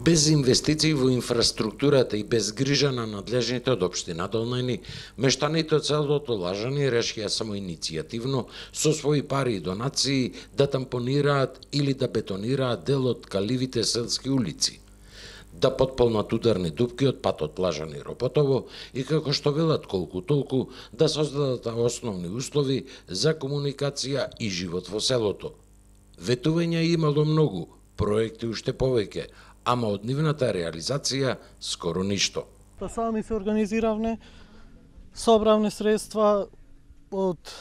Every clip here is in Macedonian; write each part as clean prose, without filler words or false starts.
Без инвестиции во инфраструктурата и без грижа на надлежните од општина Долнени, мештаните од селото Лажани решија само иницијативно со своји пари и донации да тампонираат или да бетонираат дел од каливите селски улици, да потполнат ударни дупки од патот Лажани-Ропотово и како што велат колку толку да создадат основни услови за комуникација и живот во селото. Ветувања имало многу, проекти уште повеќе, ама од нивната реализација скоро ништо. Сами се организиравме, собравме средства од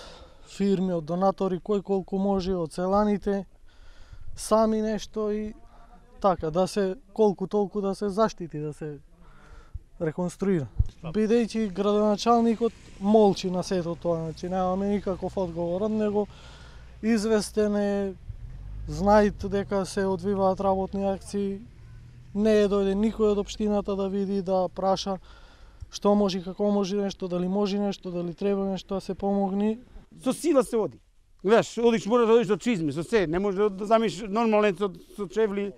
фирми, од донатори, кој колку може, од селаните, сами нешто и така, да се колку толку да се заштити, да се реконструира. Бидејќи градоначалникот молчи на сето тоа, значи немаме никаков одговор, него известен е, знаат дека се одвиваат работни акции, не е дојде никој од општината да види, да праша што може, како може нешто, дали треба нешто да се помогни. Со сила се оди. Гледаш, одиш, мора да одиш до чизми, со се, не може да замиш нормален со чевли.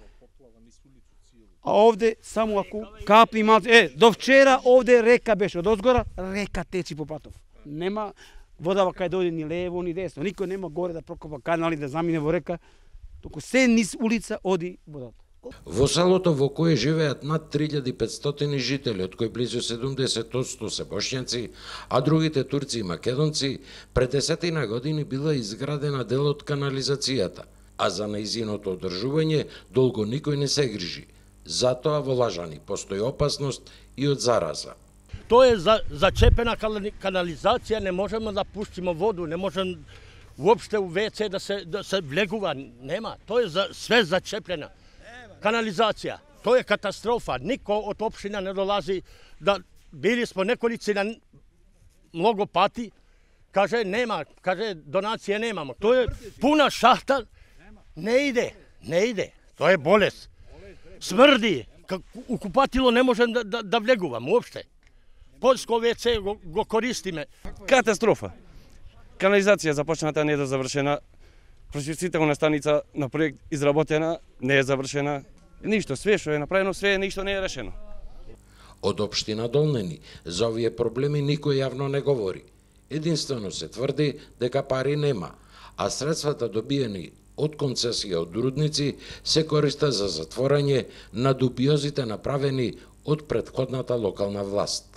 А овде само ако капи малце, до вчера овде река беше, од озгора река течи по патов. Нема вода кај дојде ни лево ни десно, никој нема горе да прокопа канали да замине во река, туку се низ улица оди водата. Во селото во кое живеат над 3500 жители, од кои близу 70% се бошњаци, а другите турци и македонци, пред 10 години била изградена дел од канализацијата, а за нејзиното одржување долго никој не се грижи. Затоа во Лажани постои опасност и од зараза. Тоа е зачепена канализација, не можеме да пуштиме воду, не можеме уопште у ВЦ да се влегува, нема. Тоа е све зачепена канализација. Тоа е катастрофа. Никој од општина не долази, да били сме неколици на многу пати, каже нема, каже донација немамо. Тоа е пуна шахта, не иде. Тоа е болест. Смрди, у купатило не можем да влегувам уопште. Полско ВЦ го користиме. Катастрофа. Канализација започната не е завршена. Прочистителна станица на проект изработена не е завршена. Ништо, све што е направено, све ништо не е решено. Од општина Долнени за овие проблеми никој јавно не говори. Единствено се тврди дека пари нема, а средствата добиени од концесија од рудници се користат за затворање на дубиозите направени од претходната локална власт.